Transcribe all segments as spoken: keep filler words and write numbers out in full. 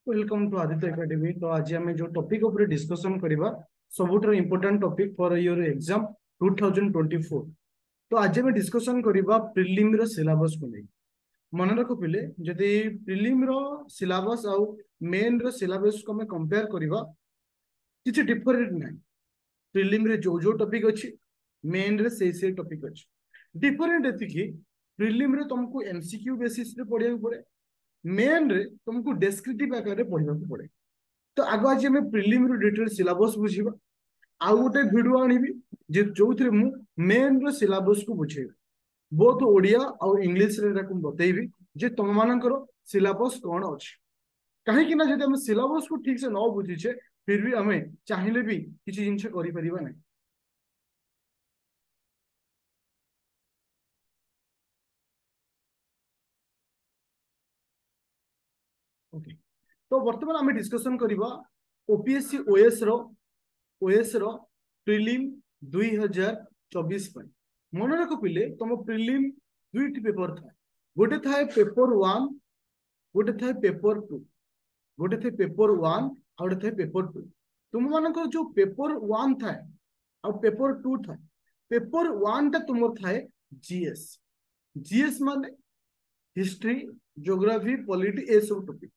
Welcome to Aditya academy. ତ ଆଜି ଆମେ ଯୋଉ ଟପିକ ଉପରେ ଡିସ୍କସନ କରିବା, ସବୁଠାରୁ important topic for your exam two thousand twenty four। ତ ଆଜି ଆମେ ଡିସ୍କସନ କରିବା ପ୍ରିଲିମ ର ସିଲାବସ କୁ ନେଇ। ମନେ ରଖ ପିଲେ, ଯଦି ପ୍ରିଲିମ ର ସିଲାବସ ଆଉ ମେନ୍ ର ସିଲାବସ କୁ ଆମେ କମ୍ପେୟାର କରିବା, କିଛି ଡିଫରେଣ୍ଟ ନାହିଁ। ପ୍ରିଲିମ ରେ ଯୋଉ ଯୋଉ ଟପିକ ଅଛି, ମେନ୍ ରେ ସେଇ ସେଇ ଟପିକ ଅଛି। ଡିଫରେଣ୍ଟ ଏତିକି, ପ୍ରିଲିମ ରେ ତମକୁ ଏମସିକ୍ୟୁ ବେସିସ ରେ ପଢିବାକୁ ପଡେ, ମେନ୍ ରେ ତମକୁ ଡେସ୍କ୍ରିପ୍ଟିଭ ଆକାରରେ ପଢିବାକୁ ପଡେ। ତ ଆଗ ଆଜି ଆମେ ପ୍ରିଲିମ ର ଡିଟେଲ ସିଲାବସ ବୁଝିବା। ଆଉ ଗୋଟେ ଭିଡିଓ ଆଣିବି ଯେ ଯୋଉଥିରେ ମୁଁ ମେନ୍ ର ସିଲାବସ କୁ ବୁଝେଇବି। ବୋଥ ଓଡିଆ ଆଉ ଇଂଲିଶରେ ଏଟାକୁ ମୁଁ ବତେଇବି ଯେ ତମମାନଙ୍କର ସିଲାବସ କଣ ଅଛି। କାହିଁକି ନା ଯଦି ଆମେ ସିଲାବସ କୁ ଠିକ ସେ ନ ବୁଝିଛେ, ଫିର ବି ଆମେ ଚାହିଁଲେ ବି କିଛି ଜିନିଷ କରିପାରିବା ନାହିଁ। ଓକେ, ତ ବର୍ତ୍ତମାନ ଆମେ ଡିସ୍କସନ କରିବା ଓପିଏସସି ଓଏସ୍ ର ଓଏସ୍ ର ପ୍ରିଲିମ ଦୁଇ ହଜାର ଚବିଶ ପାଇଁ। ମନେ ରଖ ପିଲେ, ତମ ପ୍ରିଲିମ ଦୁଇଟି ପେପର ଥାଏ। ଗୋଟେ ଥାଏ ପେପର ୱାନ୍, ଗୋଟେ ଥାଏ ପେପର ଟୁ। ଗୋଟେ ଥାଏ ପେପର ୱାନ୍ ଆଉ ଗୋଟେ ଥାଏ ପେପର ଟୁ। ତୁମମାନଙ୍କର ଯୋଉ ପେପର ୱାନ୍ ଥାଏ ଆଉ ପେପର ଟୁ ଥାଏ, ପେପର ୱାନ୍ ଟା ତୁମର ଥାଏ ଜିଏସ୍। ଜିଏସ୍ ମାନେ ହିଷ୍ଟ୍ରି, ଜୋଗ୍ରାଫି, ପଲିଟି, ଏସବୁ ଟପିକ।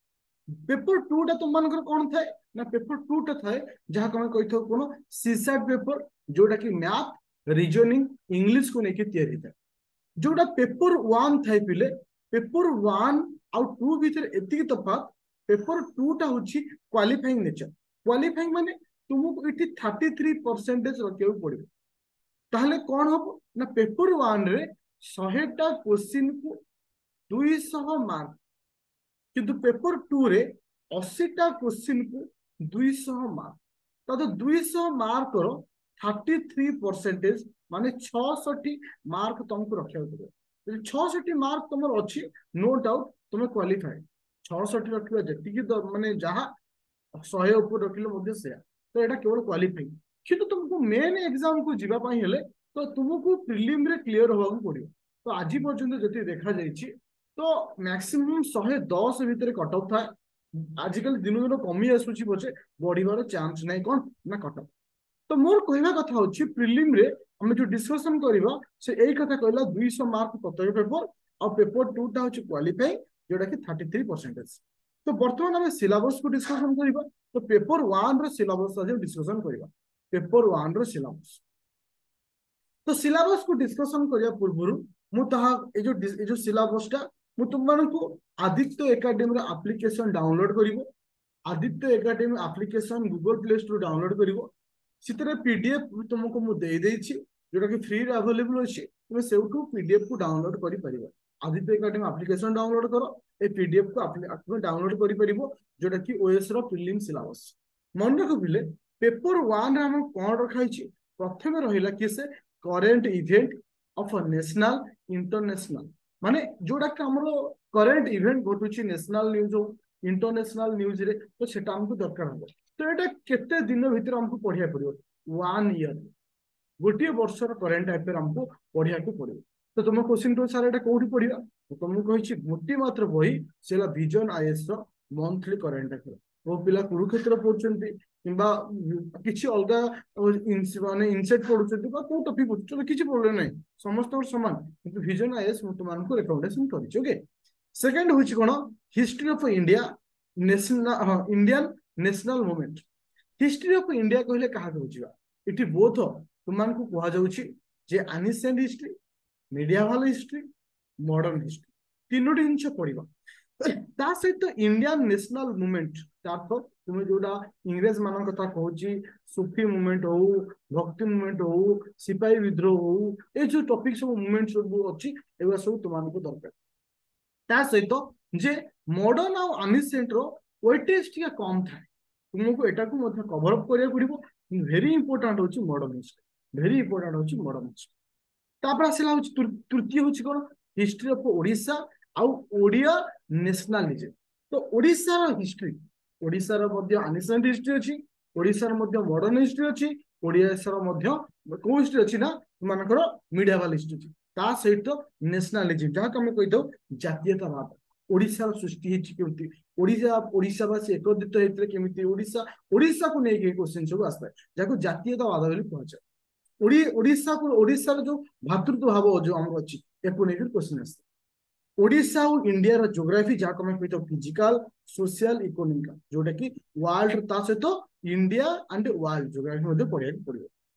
ପେପର ଟୁ ଟା ତୁମମାନଙ୍କର କଣ ଥାଏ ନା, ପେପର ଟୁ ଟା ଥାଏ ଯାହାକୁ ଆମେ କହିଥାଉ କଣ, ସିସାଟ ପେପର, ଯୋଉଟା କି ମ୍ୟାଥ, ରିଜନିଂ, ଇଂଲିଶ କୁ ନେଇକି ତିଆରି ହେଇଥାଏ। ଯୋଉଟା ପେପର ୱାନ୍ ଥାଏ ପିଲେ, ପେପର ୱାନ୍ ଆଉ ଟୁ ଭିତରେ ଏତିକି ତଫାତ, ପେପର ଟୁ ଟା ହଉଛି କ୍ୱାଲିଫାଇଂ ନେଚର। କ୍ୱାଲିଫାଇଂ ମାନେ ତୁମକୁ ଏଠି ଥାର୍ଟି ଥ୍ରୀ ପରସେଣ୍ଟେଜ ରଖିବାକୁ ପଡିବ। ତାହେଲେ କଣ ହବ ନା, ପେପର ୱାନ୍ ରେ ଶହେଟା କୋଶ୍ଚିନ୍ କୁ ଦୁଇଶହ ମାର୍କ, କିନ୍ତୁ ପେପର ଟୁ ରେ ଅଶୀଟା କୋଶ୍ଚିନ୍ କୁ ଦୁଇଶହ ମାର୍କ। ତ ଦୁଇଶହ ମାର୍କର ଥାର୍ଟି ଥ୍ରୀ ପରସେଣ୍ଟେଜ ମାନେ ଛଅଷଠି ମାର୍କ ତମକୁ ରଖିବାକୁ ପଡିବ। ଯଦି ଛଅଷଠି ମାର୍କ ତମର ଅଛି, ନୋ ଡାଉଟ ତମେ କ୍ୱାଲିଫାଏ। ଛଅଷଠି ରଖିବା ଯେତିକି ମାନେ ଯାହା, ଶହେ ଉପରେ ରଖିଲେ ମଧ୍ୟ ସେୟା। ତ ଏଇଟା କେବଳ କ୍ୱାଲିଫାଇଂ। କିନ୍ତୁ ତୁମକୁ ମେନ୍ ଏକ୍ସାମ କୁ ଯିବା ପାଇଁ ହେଲେ ତ ତୁମକୁ ପ୍ରିଲିମରେ କ୍ଲିୟର ହବାକୁ ପଡିବ। ତ ଆଜି ପର୍ଯ୍ୟନ୍ତ ଯେତିକି ଦେଖାଯାଇଛି, ତ ମ୍ୟାକ୍ସିମମ୍ ଶହେ ଦଶ ଭିତରେ କଟ ଅଫ୍ ଥାଏ। ଆଜିକାଲି ଦିନକୁ ଦିନ କମି ଆସୁଛି ପଛେ, ବଢିବାର ଚାନ୍ସ ନାହିଁ। କଣ ନା କଟ ଅଫ୍। ତ ମୋର କହିବା କଥା ହଉଛି, ପ୍ରିଲିମରେ ଆମେ ଯୋଉ ଡିସ୍କସନ କରିବା, ସେ ଏଇ କଥା କହିଲା, ଦୁଇଶହ ମାର୍କ ପ୍ରତ୍ୟେକ ପେପର ଆଉ ପେପର ଟୁ ଟା ହଉଛି କ୍ୱାଲିଫାଇ, ଯୋଉଟା କି ଥାର୍ଟି ଥ୍ରୀ ପରସେଣ୍ଟେଜ। ତ ବର୍ତ୍ତମାନ ଆମେ ସିଲାବସ କୁ ଡିସ୍କସନ କରିବା। ତ ପେପର ୱାନ୍ ର ସିଲାବସ ଆଜି ଡିସ୍କସନ କରିବା, ପେପର ୱାନ୍ ର ସିଲାବସ। ତ ସିଲାବସ କୁ ଡିସ୍କସନ କରିବା ପୂର୍ବରୁ ମୁଁ ତାହା ଏଇ ଯୋଉ ଏଇ ଯୋଉ ସିଲାବସ ଟା ମୁଁ ତୁମମାନଙ୍କୁ ଆଦିତ୍ୟ ଏକାଡେମୀର ଆପ୍ଲିକେସନ ଡାଉନଲୋଡ କରିବ। Aditya academy application Google play store download କରିବ। ସେଥିରେ ପିଡିଏଫ ତୁମକୁ ମୁଁ ଦେଇଦେଇଛି, ଯୋଉଟା କି ଫ୍ରିରେ ଆଭେଲେବୁଲ ଅଛି। ତୁମେ ସେଇଠୁ ପିଡିଏଫ କୁ ଡାଉନଲୋଡ କରିପାରିବ। ଆଦିତ୍ୟ ଏକାଡେମୀ ଆପ୍ଲିକେସନ ଡାଉନଲୋଡ କର, ଏ ପିଡିଏଫ କୁ ତୁମେ ଡାଉନଲୋଡ କରିପାରିବ, ଯୋଉଟା କି ଓଏସ୍ ର ପ୍ରିଲିମ ସିଲାବସ। ମନେ ରଖ ପିଲେ, ପେପର ୱାନ୍ ରେ ଆମର କଣ ରଖା ହେଇଛି? ପ୍ରଥମେ ରହିଲା କି ସେ current event of national, international, ମାନେ ଯୋଉଟା କି ଆମର କରେଣ୍ଟ ଇଭେଣ୍ଟ ଘଟୁଛି ନ୍ୟାସନାଲ ନ୍ୟୁଜ ହଉ, ଇଣ୍ଟରନ୍ୟାସନାଲ ନ୍ୟୁଜରେ, ତ ସେଟା ଆମକୁ ଦରକାର ହବ। ତ ଏଇଟା କେତେ ଦିନ ଭିତରେ ଆମକୁ ପଢିବାକୁ ପଡିବ? ୱାନ୍ ଇୟର, ଗୋଟିଏ ବର୍ଷର କରେଣ୍ଟ ଆଫେୟାର ଆମକୁ ପଢିବାକୁ ପଡିବ। ତ ତୁମ କୋଶ୍ଚିନ୍ ଟୁ, ସାର୍ ଏଇଟା କୋଉଠି ପଢିବା? ମୁଁ ତମକୁ କହିଛି ଗୋଟିଏ ମାତ୍ର ବହି, ସେ ହେଲା ଭିଜନ is ର ମନ୍ଥଲି କରେଣ୍ଟ ଆଫେୟାର। ମୋ ପିଲା କୁରୁକ୍ଷେତ୍ର ପଢୁଛନ୍ତି କିମ୍ବା କିଛି ଅଲଗା ମାନେ ଇନସେଟ୍ ପଢୁଛନ୍ତି ବା କୋଉ ଟପିକ ପଢୁଛନ୍ତି, କିଛି ପ୍ରୋବ୍ଲେମ ନାହିଁ, ସମସ୍ତଙ୍କର ସମାନ। କିନ୍ତୁ ଭିଜନ is ମୁଁ ତୁମମାନଙ୍କୁ ରେକମେଣ୍ଡେସନ କରିଛି। ଓକେ, ସେକେଣ୍ଡ ହଉଛି କଣ? History of India, national, ହଁ, Indian national movement. History of India କହିଲେ କାହାକୁ ବୁଝିବା? ଏଠି ବୋଥ ତୁମମାନଙ୍କୁ କୁହାଯାଉଛି ଯେ ancient history, medieval history, modern history, ତିନୋଟି ଜିନିଷ ପଢିବା। ତା ସହିତ ଇଣ୍ଡିଆନ ନ୍ୟାସନାଲ ମୁଭମେଣ୍ଟ, ତାର ତୁମେ ଯୋଉଟା ଇଂରେଜ ମାନଙ୍କ କଥା କହୁଛି, ସୁଫି ମୁଭମେଣ୍ଟ ହଉ, ଭକ୍ତି ମୁଭମେଣ୍ଟ ହଉ, ସିପାହୀ ବିଦ୍ରୋହ ହଉ, ଏଇ ଯୋଉ ଟପିକ ସବୁ, ମୁଭମେଣ୍ଟ ସବୁ ଅଛି, ଏଗୁଡ଼ା ସବୁ ତୁମମାନଙ୍କୁ ଦରକାର। ତା ସହିତ ଯେ ମଡର୍ନ ଆଉ ଆନିସେଣ୍ଟ ର ୱେଟେଜ ଟିକେ କମ ଥାଏ, ତୁମକୁ ଏଟାକୁ ମଧ୍ୟ କଭର ଅପ୍ କରିବାକୁ ପଡିବ। ଭେରି ଇମ୍ପୋର୍ଟାଣ୍ଟ ହଉଛି ମଡର୍ନ ହିଷ୍ଟ୍ରି, ଭେରି ଇମ୍ପୋର୍ଟାଣ୍ଟ ହଉଛି ମଡର୍ନ ହିଷ୍ଟ୍ରି। ତାପରେ ଆସିଲା ହଉଛି ତୃତୀୟ ହଉଛି କଣ? ହିଷ୍ଟ୍ରି ଅଫ ଓଡିଶା ଆଉ ଓଡିଆ ନ୍ୟାସନାଲିଜମ। ତ ଓଡିଶାର ହିଷ୍ଟ୍ରି, ଓଡିଶାର ମଧ୍ୟ ଆନିସେଣ୍ଟ ହିଷ୍ଟ୍ରି ଅଛି, ଓଡିଶାର ମଧ୍ୟ ମଡର୍ନ ହିଷ୍ଟ୍ରି ଅଛି, ଓଡିଶାର ମଧ୍ୟ କୋଉ ହିଷ୍ଟ୍ରି ଅଛି ନା ମାନଙ୍କର ମିଡିଆଭାଲ ହିଷ୍ଟ୍ରି ଅଛି। ତା ସହିତ ନ୍ୟାସନାଲିଜିମ, ଯାହାକୁ ଆମେ କହିଥାଉ ଜାତୀୟତାବାଦ। ଓଡ଼ିଶାର ସୃଷ୍ଟି ହେଇଛି କେମିତି, ଓଡ଼ିଶା ଓଡ଼ିଶାବାସୀ ଏକତ୍ରିତ ହେଇଥିଲେ କେମିତି, ଓଡ଼ିଶା ଓଡ଼ିଶାକୁ ନେଇକି କ୍ୱେଶ୍ଚିନ୍ ସବୁ ଆସିଥାଏ, ଯାହାକୁ ଜାତୀୟତାବାଦ ବୋଲି କୁହାଯାଏ। ଓଡ଼ିଶାକୁ ଓଡ଼ିଶାର ଯୋଉ ଭ୍ରାତୃତ୍ୱ ଭାବ ଯୋଉ ଆମର ଅଛି, ୟାକୁ ନେଇକି କ୍ୱେଶ୍ଚିନ୍ ଆସିଥାଏ। ଓଡ଼ିଶା ଆଉ ଇଣ୍ଡିଆର ଜୋଗ୍ରାଫି, ଯାହାକୁ ଆମେ କହିଥାଉ ଫିଜିକାଲ, ସୋସିଆଲ, ଇକୋନୋମିକାଲ, ଯୋଉଟା କି ୱାର୍ଲଡ, ତା ସହିତ ଇଣ୍ଡିଆ ଆଣ୍ଡ ୱାର୍ଲଡ ଜୋଗ୍ରାଫି ମଧ୍ୟ ପଢିବାକୁ ପଡିବ।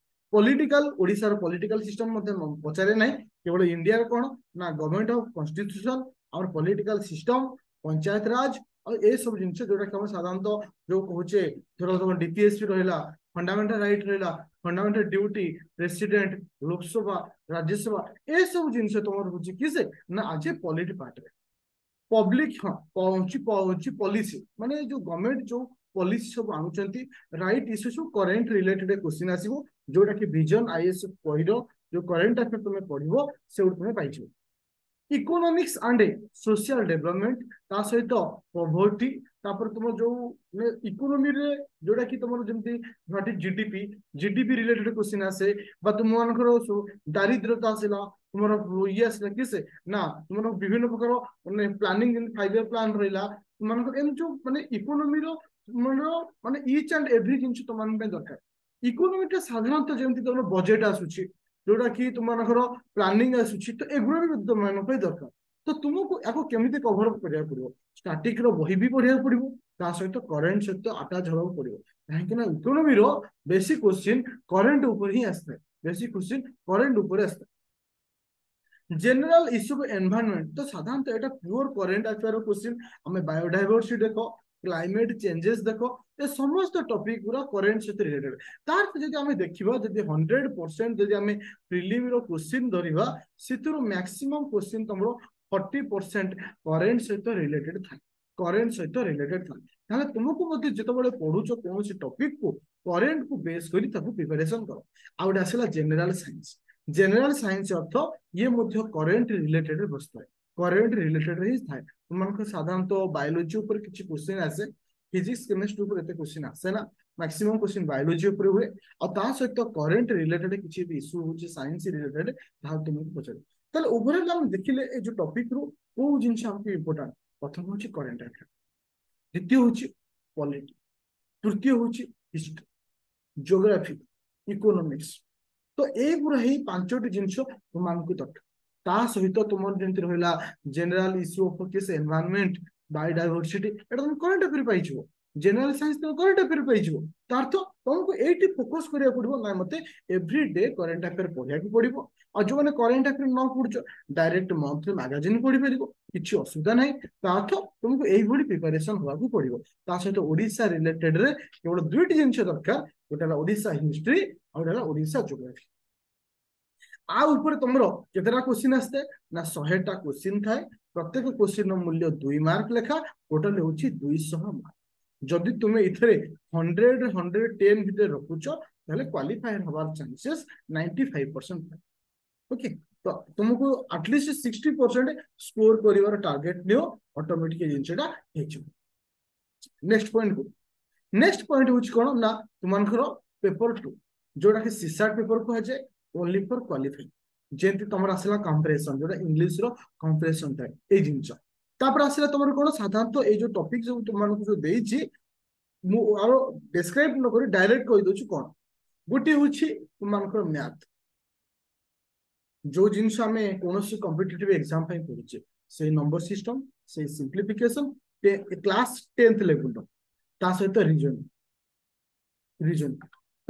ପଲିଟିକାଲ, ଓଡ଼ିଶାର ପଲିଟିକାଲ ସିଷ୍ଟମ ମଧ୍ୟ ପଚାରେ ନାହିଁ, କେବଳ ଇଣ୍ଡିଆର କଣ ନା ଗଭର୍ଣ୍ଣମେଣ୍ଟ ଅଫ କନଷ୍ଟିଟ୍ୟୁସନ, ଆମର ପଲିଟିକାଲ ସିଷ୍ଟମ, ପଞ୍ଚାୟତ ରାଜ, ଆଉ ଏସବୁ ଜିନିଷ ଯୋଉଟା କି ଆମେ ସାଧାରଣତଃ ଯୋଉ କହୁଛେ, ଧର ତମ ଡିପିଏସପି ରହିଲା, ଫଣ୍ଡାମେଣ୍ଟାଲ ରାଇଟ ରହିଲା, fundamental duty, president, Lok Sabha, Rajya Sabha, ଏସବୁ ଜିନିଷ ତମର ହଉଛି କି ସେ ନା ଆଜି ପଲିଟି ପାର୍ଟରେ। ପବ୍ଲିକ, ହଁ, ହଉଛି ହଉଛି ପଲିସି, ମାନେ ଯୋଉ ଗଭର୍ଣ୍ଣମେଣ୍ଟ ଯୋଉ ପଲିସି ସବୁ ଆଣୁଛନ୍ତି, ରାଇଟ ଇସ୍ୟୁ ସବୁ କରେଣ୍ଟ ରିଲେଟେଡ କ୍ୱେଶ୍ଚିନ୍ ଆସିବ, ଯୋଉଟା କି ଭିଜନ is ବହିର ଯୋଉ କରେଣ୍ଟ ଆଫେୟାର ତମେ ପଢିବ ସେଉଠୁ ତମେ ପାଇଯିବ। ଇକୋନୋମିକ୍ସ ଆଣ୍ଡ ସୋସିଆଲ ଡେଭଲପମେଣ୍ଟ, ତା ସହିତ ପଭର୍ଟି, ତାପରେ ତୁମ ଯୋଉ ଇକୋନୋମିରେ ଯୋଉଟା କି ତମର ଯେମିତି ଜିଡିପି, ଜିଡିପି ରିଲେଟେଡ କ୍ୱେଶ୍ଚିନ୍ ଆସେ, ବା ତୁମମାନଙ୍କର ଦାରିଦ୍ରତା ଆସିଲା, ତୁମର ଇଏ ଆସିଲା କି ସେ ନା ତୁମର ବିଭିନ୍ନ ପ୍ରକାର ମାନେ ପ୍ଲାନିଂ, ଯେମିତି ଫାଇଭ ଇୟର ପ୍ଲାନ୍ ରହିଲା ତୁମମାନଙ୍କର, ଏମିତି ଯୋଉ ମାନେ ଇକୋନୋମିର ତୁମର ମାନେ ଇଚ୍ ଆଣ୍ଡ ଏଭ୍ରି ଜିନିଷ ତୁମମାନଙ୍କ ପାଇଁ ଦରକାର। ଇକୋନୋମିଟା ସାଧାରଣତଃ ଯେମିତି ତମର ବଜେଟ ଆସୁଛି, ଯୋଉଟା କି ତୁମମାନଙ୍କର ପ୍ଲାନିଂ ଆସୁଛି, ତ ଏଗୁଡ଼ା ବି ତୁମମାନଙ୍କ ପାଇଁ ଦରକାର। ତ ତୁମକୁ ୟାକୁ କେମିତି କଭର କରିବାକୁ ପଡିବ? ଷ୍ଟାଟିକ ର ବହି ବି ପଢିବାକୁ ପଡିବ, ତା ସହିତ କରେଣ୍ଟ ସହିତ ଆଟାଚ ହବାକୁ ପଡିବ, କାହିଁକି ନା ଇକୋନୋମିର ବେଶୀ କ୍ୱେଶ୍ଚିନ୍ କରେଣ୍ଟ ଉପରେ ହିଁ ଆସିଥାଏ, ବେଶୀ କ୍ୱେଶ୍ଚିନ୍ କରେଣ୍ଟ ଉପରେ ଆସିଥାଏ। ଜେନେରାଲ ଇସ୍ୟୁ ଏନଭାରନମେଣ୍ଟ, ତ ସାଧାରଣତଃ ଏଇଟା ପିଓର କରେଣ୍ଟ ଆଫେୟାର କ୍ୱେଶ୍ଚିନ୍। ଆମେ ବାୟୋଡାଇଭରସିଟି ଦେଖ, କ୍ଲାଇମେଟ ଚେଞ୍ଜେସ ଦେଖ, ଏ ସମସ୍ତ ଟପିକ ଗୁରା କରେଣ୍ଟ ସହିତ ରିଲେଟେଡ। ତାର ଯଦି ଆମେ ଦେଖିବା, ଯଦି ହଣ୍ଡ୍ରେଡ ପରସେଣ୍ଟ ଯଦି ଆମେ ପ୍ରିଲିମର କ୍ୱେଶ୍ଚିନ୍ ଧରିବା, ସେଥିରୁ ମ୍ୟାକ୍ସିମମ୍ କ୍ୱେଶ୍ଚିନ୍ ତମର ଫର୍ଟି ପରସେଣ୍ଟ କରେଣ୍ଟ ସହିତ ରିଲେଟେଡ ଥାଏ, କରେଣ୍ଟ ସହିତ ରିଲେଟେଡ ଥାଏ। ତାହେଲେ ତୁମକୁ ମଧ୍ୟ ଯେତେବେଳେ ପଢୁଛ କୌଣସି ଟପିକ କୁ, କରେଣ୍ଟ କୁ ବେସ୍ କରି ତାକୁ ପ୍ରିପାରେସନ କର। ଆଉ ଗୋଟେ ଆସିଲା ଜେନେରାଲ ସାଇନ୍ସ। ଜେନେରାଲ ସାଇନ୍ସ ଅର୍ଥ ଇଏ ମଧ୍ୟ କରେଣ୍ଟ ରିଲେଟେଡ ବସିଥାଏ, କରେଣ୍ଟ ରିଲେଟେଡ ହିଁ ଥାଏ। ତୁମମାନଙ୍କର ସାଧାରଣତଃ ବାୟୋଲୋଜି ଉପରେ କିଛି କ୍ୱେଶ୍ଚିନ୍ ଆସେ, ଫିଜିକ୍ସ କେମିଷ୍ଟ୍ରି ଉପରେ ଏତେ କ୍ୱେଶ୍ଚିନ୍ ଆସେ ନା, ମ୍ୟାକ୍ସିମମ୍ କ୍ୱେଶ୍ଚିନ୍ ବାୟୋଲୋଜି ଉପରେ ହୁଏ। ଆଉ ତା ସହିତ କରେଣ୍ଟ ରିଲେଟେଡ କିଛି ଇସ୍ୟୁ ହଉଛି ସାଇନ୍ସ ରିଲେଟେଡ, ତାହା ତୁମକୁ ପଚାରିବ। ତାହେଲେ ଓଭରଅଲ ଆମେ ଦେଖିଲେ ଏ ଯୋଉ ଟପିକ ରୁ କୋଉ ଜିନିଷ ଆମକୁ ଇମ୍ପୋର୍ଟାଣ୍ଟ। ପ୍ରଥମ ହଉଛି କରେଣ୍ଟ ଆଫେୟାର, ଦ୍ୱିତୀୟ ହଉଛି ପଲିଟି, ତୃତୀୟ ହଉଛି ହିଷ୍ଟ୍ରି, ଜିଓଗ୍ରାଫି, ଇକୋନୋମିକ୍ସ। ତ ଏଇଗୁଡ଼ା ହିଁ ପାଞ୍ଚଟି ଜିନିଷ ତୁମମାନଙ୍କୁ ଦରକାର। ତା ସହିତ ତୁମର ଯେମିତି ରହିଲା general issue of case environment, biodiversity, ଏଟା ତମେ କରେଣ୍ଟ ଆଫେୟାର ପାଇଯିବ। ଜେନେରାଲ ସାଇନ୍ସ ତମେ କରେଣ୍ଟ ଆଫେୟାର ପାଇଯିବ। ତା ଅର୍ଥ ତମକୁ ଏଇଠି ଫୋକସ କରିବାକୁ ପଡିବ ନା ମତେ ଏଭ୍ରି ଡେ କରେଣ୍ଟ ଆଫେୟାର ପଢିବାକୁ ପଡିବ। ଆଉ ଯୋଉମାନେ କରେଣ୍ଟ ଆଫେୟାର ନ ପଢୁଛ, ଡାଇରେକ୍ଟ ମନ୍ଥଲି ମାଗାଜିନ୍ ପଢିପାରିବ, କିଛି ଅସୁବିଧା ନାହିଁ। ତା ଅର୍ଥ ତୁମକୁ ଏଇଭଳି ପ୍ରିପାରେସନ ହବାକୁ ପଡିବ। ତା ସହିତ ଓଡିଶା ରିଲେଟେଡ ରେ କେବଳ ଦୁଇଟି ଜିନିଷ ଦରକାର, ଗୋଟେ ହେଲା ଓଡିଶା ହିଷ୍ଟ୍ରି ଆଉ ଗୋଟେ ହେଲା ଓଡିଶା ଜୋଗ୍ରାଫି। ଆଉ ଉପରେ ତମର କେତେଟା କ୍ୱେଶ୍ଚିନ୍ ଆସିଥାଏ ନା ଶହେଟା କ୍ୱେଶ୍ଚିନ୍ ଥାଏ। ପ୍ରତ୍ୟେକ କ୍ୱେଶ୍ଚିନ୍ ର ମୂଲ୍ୟ ଦୁଇ ମାର୍କ ଲେଖା, ଟୋଟାଲ ହେଉଛି ଦୁଇଶହ ମାର୍କ। ଯଦି ତୁମେ ଏଥିରେ ହଣ୍ଡ୍ରେଡ ହଣ୍ଡ୍ରେଡ ଟେନ୍ ଭିତରେ ରଖୁଛ, ତାହେଲେ କ୍ୱାଲିଫାଏ ହବାର ଚାନ୍ସେସ୍ ନାଇଣ୍ଟି ଫାଇଭ ପରସେଣ୍ଟ ଥାଏ। ଓକେ, ତ ତୁମକୁ ଆଟଲିଷ୍ଟ ସିକ୍ସଟି ପରସେଣ୍ଟ score କରିବାର ଟାର୍ଗେଟ ନିଅ, ଅଟୋମେଟିକ ଏ ଜିନିଷଟା ହେଇଯିବ। ନେକ୍ସଟ ପଏଣ୍ଟ କୁ, ନେକ୍ସଟ ପଏଣ୍ଟ ହଉଛି କଣ ନା ତୁମମାନଙ୍କର ପେପର ଟୁ, ଯୋଉଟା କି ସିସାଟ ପେପର କୁହାଯାଏ, ଓନ୍ଲି ଫର କ୍ୱାଲିଫାଇ। ଯେମିତି ତମର ଆସିଲା କମ୍ପ୍ରେସନ, ଯୋଉଟା ଇଂଲିଶ ର କମ୍ପ୍ରେସନ ଥାଏ ଏଇ ଜିନିଷ। ତାପରେ ଆସିଲା ତମର କଣ ସାଧାରଣତଃ ଏଇ ଯୋଉ ଟପିକ ସବୁ ତୁମମାନଙ୍କୁ ଯୋଉ ଦେଇଛି, ମୁଁ ଆଉ ଡେସ୍କ୍ରାଇବ ନ କରି ଡାଇରେକ୍ଟ କହିଦଉଛି କଣ। ଗୋଟିଏ ହଉଛି ତୁମମାନଙ୍କର ମ୍ୟାଥ, ଯୋଉ ଜିନିଷ ଆମେ କୌଣସି କମ୍ପିଟେଟିଭ ଏକ୍ସାମ ପାଇଁ ପଢୁଛେ, ସେଇ ନମ୍ବର ସିଷ୍ଟମ, ସେଇ ସିମ୍ପ୍ଲିଫିକେସନ କ୍ଲାସ ଟେନ୍ଥ ଲେଭେଲର, ତା ସହିତ ରିଜନିଂ, ରିଜନିଂ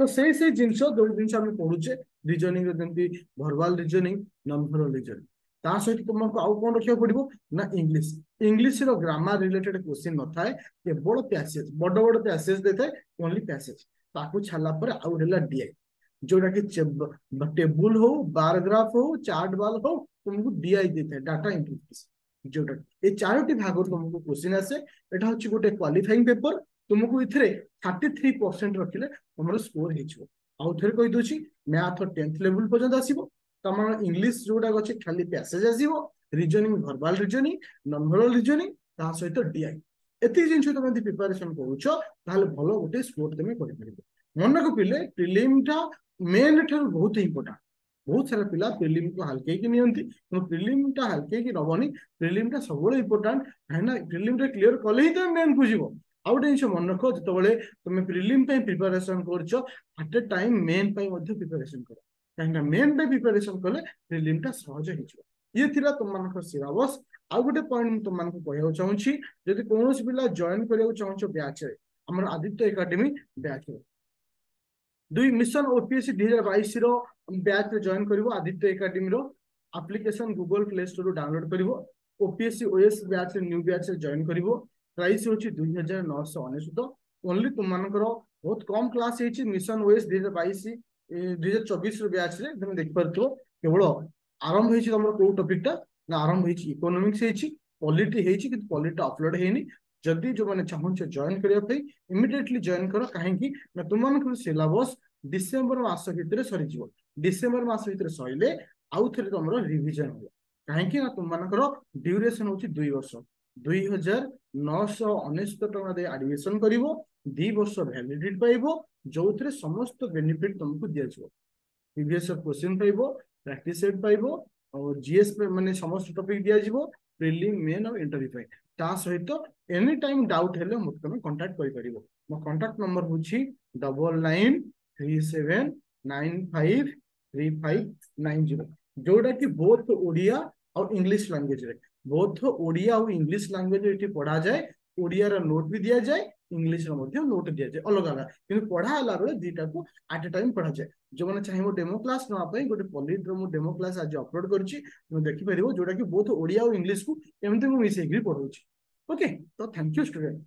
ତ ସେଇ ସେଇ ଜିନିଷ ଯୋଉ ଜିନିଷ ଆମେ ପଢୁଛେ ରିଜନିଂ, ଯେମିତି ଭର୍ବାଲ ରିଜନିଂ, ନନ୍ ଭର୍ବାଲ ରିଜନିଂ। ତା ସହିତ ତୁମକୁ ଆଉ କଣ ରଖିବାକୁ ପଡିବ ନା ଇଂଲିଶ। ଇଂଲିଶର ଗ୍ରାମାର ରିଲେଟେଡ କ୍ୱେଶ୍ଚିନ୍ ନଥାଏ, କେବଳ ପ୍ୟାସେଜ, ବଡ ବଡ ପ୍ୟାସେଜ ଦେଇଥାଏ, ଓନ୍ଲି ପ୍ୟାସେଜ। ତାକୁ ଛାଡିଲା ପରେ ଆଉ ହେଲା ଡିଆଇ, ଯୋଉଟା କି ଟେବୁଲ ହଉ, ବାର ଗ୍ରାଫ ହଉ, ଚାର୍ଟ ବାଲ ହଉ, ତୁମକୁ ଡିଆଇ ଦେଇଥାଏ, ଡାଟା ଇଣ୍ଟରପ୍ରିଟେସନ। ଯୋଉଟା ଏଇ ଚାରୋଟି ଭାଗରୁ ତୁମକୁ କ୍ୱେଶ୍ଚିନ୍ ଆସେ। ଏଟା ହଉଛି ଗୋଟେ କ୍ୱାଲିଫାଇଂ ପେପର। ତୁମକୁ ଏଥିରେ ଥାର୍ଟି ଥ୍ରୀ ପରସେଣ୍ଟ ରଖିଲେ ତମର ସ୍କୋର ହେଇଯିବ। ଆଉ ଥରେ କହିଦଉଛି, ମ୍ୟାଥ ଟେନ୍ଥ ଲେଭେଲ ପର୍ଯ୍ୟନ୍ତ ଆସିବ, ତମର ଇଂଲିଶ ଯୋଉଟା ଅଛି ଖାଲି ପ୍ୟାସେଜ ଆସିବ, reasoning verbal reasoning, non verbal reasoning, ତା ସହିତ ଡିଆଇ। ଏତିକି ଜିନିଷ ତମେ ଯଦି ପ୍ରିପାରେସନ କରୁଛ, ତାହେଲେ ଭଲ ଗୋଟେ ସ୍କୋର ତମେ କରିପାରିବ। ମନେ ରଖିଲେ ପ୍ରିଲିମଟା ମେନ୍ ଠାରୁ ବହୁତ ଇମ୍ପୋର୍ଟାଣ୍ଟ। ବହୁତ ସାରା ପିଲା ପ୍ରିଲିମକୁ ହାଲକେଇକି ନିଅନ୍ତି, କିନ୍ତୁ ପ୍ରିଲିମଟା ହାଲକେଇକି ନବନି। ପ୍ରିଲିମଟା ସବୁବେଳେ ଇମ୍ପୋର୍ଟାଣ୍ଟ, କାହିଁକିନା ପ୍ରିଲିମଟା କ୍ଲିୟର କଲେ ହିଁ ତମେ ମେନ୍ କୁ ଯିବ। ଆଉ ଗୋଟେ ଜିନିଷ ମନେ ରଖ, ଯେତେବେଳେ ତମେ ପ୍ରିଲିମ ପାଇଁ ପ୍ରିପାରେସନ କରୁଛ, ଆଟ୍ ଏ ଟାଇମ ମେନ୍ ପାଇଁ ମଧ୍ୟ ପ୍ରିପାରେସନ କର, କାହିଁକିନା ମେନ୍ ପାଇଁ ପ୍ରିପାରେସନ କଲେ ପ୍ରିଲିମଟା ସହଜ ହେଇଯିବ। ଇଏ ଥିଲା ତମମାନଙ୍କର ସିଲାବସ୍। ଆଉ ଗୋଟେ ପଏଣ୍ଟ ମୁଁ ତମମାନଙ୍କୁ କହିବାକୁ ଚାହୁଁଛି, ଯଦି କୌଣସି ପିଲା ଜଏନ କରିବାକୁ ଚାହୁଁଛ ବ୍ୟାଚରେ, ଆମର ଆଦିତ୍ୟ ଏକାଡେମୀ ବ୍ୟାଚରେ ଦୁଇ ମିଶନ ଓପିଏସସି ଦୁଇ ହଜାର ବାଇଶ ର ବ୍ୟାଚରେ ଜଏନ କରିବ, ଆଦିତ୍ୟ ଏକାଡେମୀର ଆପ୍ଲିକେସନ ଗୁଗଲ ପ୍ଲେ ଷ୍ଟୋରରୁ ଡାଉନଲୋଡ କରିବ, ଓପିଏସସି ଓଏସ୍ ବ୍ୟାଚରେ ନ୍ୟୁ ବ୍ୟାଚରେ ଜଏନ କରିବ। ପ୍ରାଇସ୍ ହେଉଛି ଦୁଇ ହଜାର ନଅଶହ ଅନେଶତ ଓନ୍ଲି। ତୁମମାନଙ୍କର ବହୁତ କମ କ୍ଲାସ ହେଇଛି ମିଶନ ଓଏସ୍ ଦୁଇ ହଜାର ବାଇଶ ଦୁଇ ହଜାର ଚବିଶର ବ୍ୟାଚରେ। ତମେ ଦେଖିପାରୁଥିବ, କେବଳ ଆରମ୍ଭ ହେଇଛି ତମର କୋଉ ଟପିକଟା ନା ଆରମ୍ଭ ହେଇଛି ଇକୋନୋମିକ୍ସ ହେଇଛି, ପଲିଟି ହେଇଛି, କିନ୍ତୁ ପଲିଟି ଅପଲୋଡ ହେଇନି। ଯଦି ଯୋଉମାନେ ଚାହୁଁଛ ଜଏନ କରିବା ପାଇଁ, ଇମିଡିଏଟଲି ଜଏନ କର, କାହିଁକି ନା ତୁମମାନଙ୍କର ସିଲାବସ୍ ଡିସେମ୍ବର ମାସ ଭିତରେ ସରିଯିବ। ଡିସେମ୍ବର ମାସ ଭିତରେ ସରିଲେ ଆଉ ଥରେ ତମର ରିଭିଜନ ହବ, କାହିଁକି ନା ତୁମମାନଙ୍କର ଡ୍ୟୁରେସନ ହଉଛି ଦୁଇ ବର୍ଷ। ଦୁଇ ହଜାର ନଅଶହ ଅନେଶତ ଟଙ୍କା ଦେଇ ଆଡମିସନ କରିବ, ଦି ବର୍ଷ ଭ୍ୟାଲିଡିଟି ପାଇବ, ଯୋଉଥିରେ ସମସ୍ତ ବେନିଫିଟ ତମକୁ ଦିଆଯିବ। ପ୍ରିଭିୟସ କ୍ୱେଶ୍ଚିନ୍ ପାଇବ, ପ୍ରାକ୍ଟିସ ସେଟ୍ ପାଇବ, ଆଉ ଜିଏସ୍ ମାନେ ସମସ୍ତ ଟପିକ ଦିଆଯିବ ପ୍ରିଲିମ, ମେନ୍ ଆଉ ଇଣ୍ଟରଭ୍ୟୁ ପାଇଁ। ତା ସହିତ ଏନି ଟାଇମ ଡାଉଟ ହେଲେ ମତେ ତମେ କଣ୍ଟାକ୍ଟ କରିପାରିବ। ମୋ କଣ୍ଟାକ୍ଟ ନମ୍ବର ହଉଛି double nine three seven nine five three five nine zero, ଯୋଉଟା କି ବୋଥ ଓଡିଆ ଆଉ ଇଂଲିଶ ଲାଙ୍ଗୁଏଜରେ, ବୋଥ ଓଡିଆ ଆଉ ଇଂଲିଶ ଲାଙ୍ଗୁଏଜ ଏଠି ପଢାଯାଏ। ଓଡିଆର ନୋଟ ବି ଦିଆଯାଏ, ଇଂଲିଶର ମଧ୍ୟ ନୋଟ ଦିଆଯାଏ ଅଲଗା ଅଲଗା, କିନ୍ତୁ ପଢା ହେଲା ବେଳେ ଦିଟାକୁ ଆଟ୍ ଏ ଟାଇମ ପଢାଯାଏ। ଯୋଉମାନେ ଚାହିଁବ ଡେମୋ କ୍ଲାସ ନେବା ପାଇଁ, ଗୋଟେ ପଲିଟିର ମୁଁ ଡେମୋ କ୍ଲାସ ଆଜି ଅପଲୋଡ କରିଛି, ତମେ ଦେଖିପାରିବ, ଯୋଉଟା କି ବୋଥ ଓଡିଆ ଆଉ ଇଂଲିଶକୁ ଏମିତି ମୁଁ ମିଶେଇକିରି ପଢଉଛି। ଓକେ, ତ thank you student.